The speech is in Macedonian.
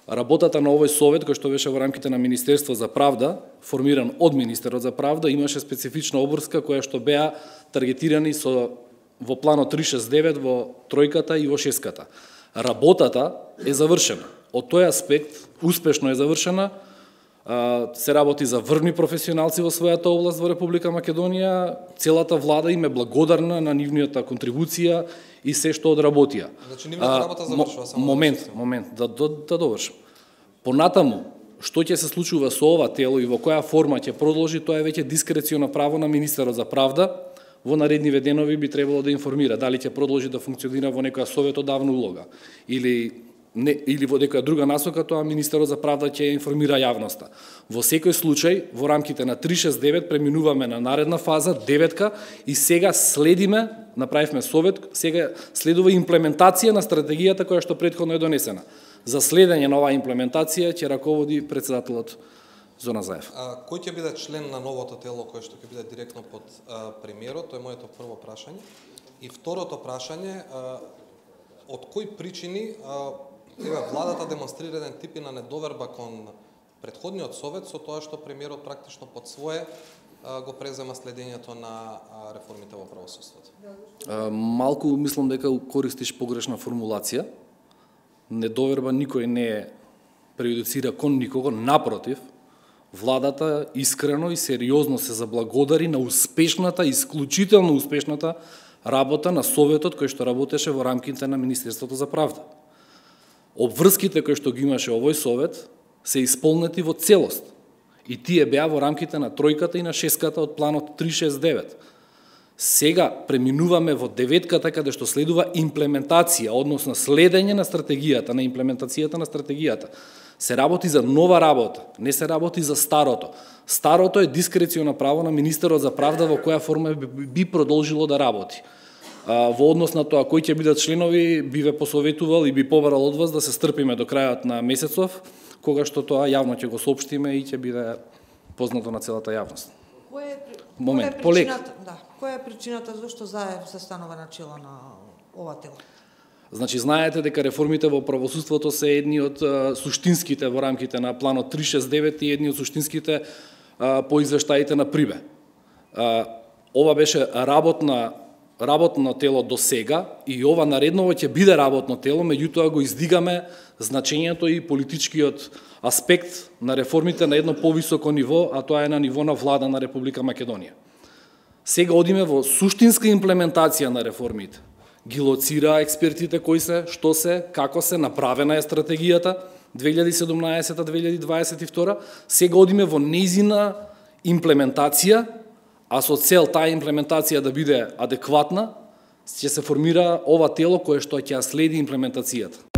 Работата на овој совет, кој што беше во рамките на Министерство за правда, формиран од Министерот за правда, имаше специфична обврска која што беа таргетирани во планот 369, во тројката и во шеската. Работата е завршена. Од тој аспект, успешно е завршена, се работи за врвни професионалци во својата област во Република Македонија, целата влада им е благодарна на нивната контрибуција и се што одработија. Значи нивната работа завршува само. Момент, да довршам. Понатаму, што ќе се случува со ова тело и во која форма ќе продолжи, тоа е веќе дискреционо право на Министерот за правда. Во наредниве денови би требало да информира дали ќе продолжи да функционира во некоја советодавна улога или во некоја друга насока, тоа Министерот за правда ќе информира јавноста. Во секој случај, во рамките на 369 преминуваме на наредна фаза, 9-ка, и сега следиме, направивме совет, сега следува имплементација на стратегијата која што претходно е донесена. За следење на оваа имплементација ќе раководи председателот Зона Заев. Кој ќе биде член на новото тело кој што ќе биде директно под премиерот? Тоа е моето прво прашање. И второто прашање, од кои причини владата демонстрира еден тип на недоверба кон претходниот совет со тоа што премиерот практично под свое го презема следењето на реформите во правосудството? Малку мислам дека користиш погрешна формулација. Недоверба никој не прејудицира кон никого, напротив, владата искрено и сериозно се заблагодари на успешната, исклучително успешната работа на советот кој што работеше во рамките на Министерството за правда. Обврските кои што ги имаше овој совет се исполнети во целост. И тие беа во рамките на тројката и на шеската од планот 369. Сега преминуваме во 9-ката каде што следува имплементација, односно следење на стратегијата, на имплементацијата на стратегијата. Се работи за нова работа, не се работи за старото. Старото е дискреционо право на Министерот за правда во која форма би продолжило да работи. Во однос на тоа кои ќе бидат членови, би ве посоветувал и би побарал од вас да се стрпиме до крајот на месецов, кога што тоа јавно ќе го соопштиме и ќе биде познато на целата јавност. Која е причината зашто Заев се станува начело на ова тело? Значи, знаете дека реформите во правосудството се едни од суштинските во рамките на планот 369 и едни од суштинските по извештаите на Прибе. Ова беше работно тело до сега и ова наредново ќе биде работно тело, меѓутоа го издигаме значењето и политичкиот аспект на реформите на едно повисоко ниво, а тоа е на ниво на влада на Република Македонија. Сега одиме во суштинска имплементација на реформите. Ги лоцира експертите кои се, што се, како се, направена е стратегијата 2017-2022. Сега одиме во нејзина имплементација, а со цел таа имплементација да биде адекватна, ќе се формира ова тело кое што ќе следи имплементацијата.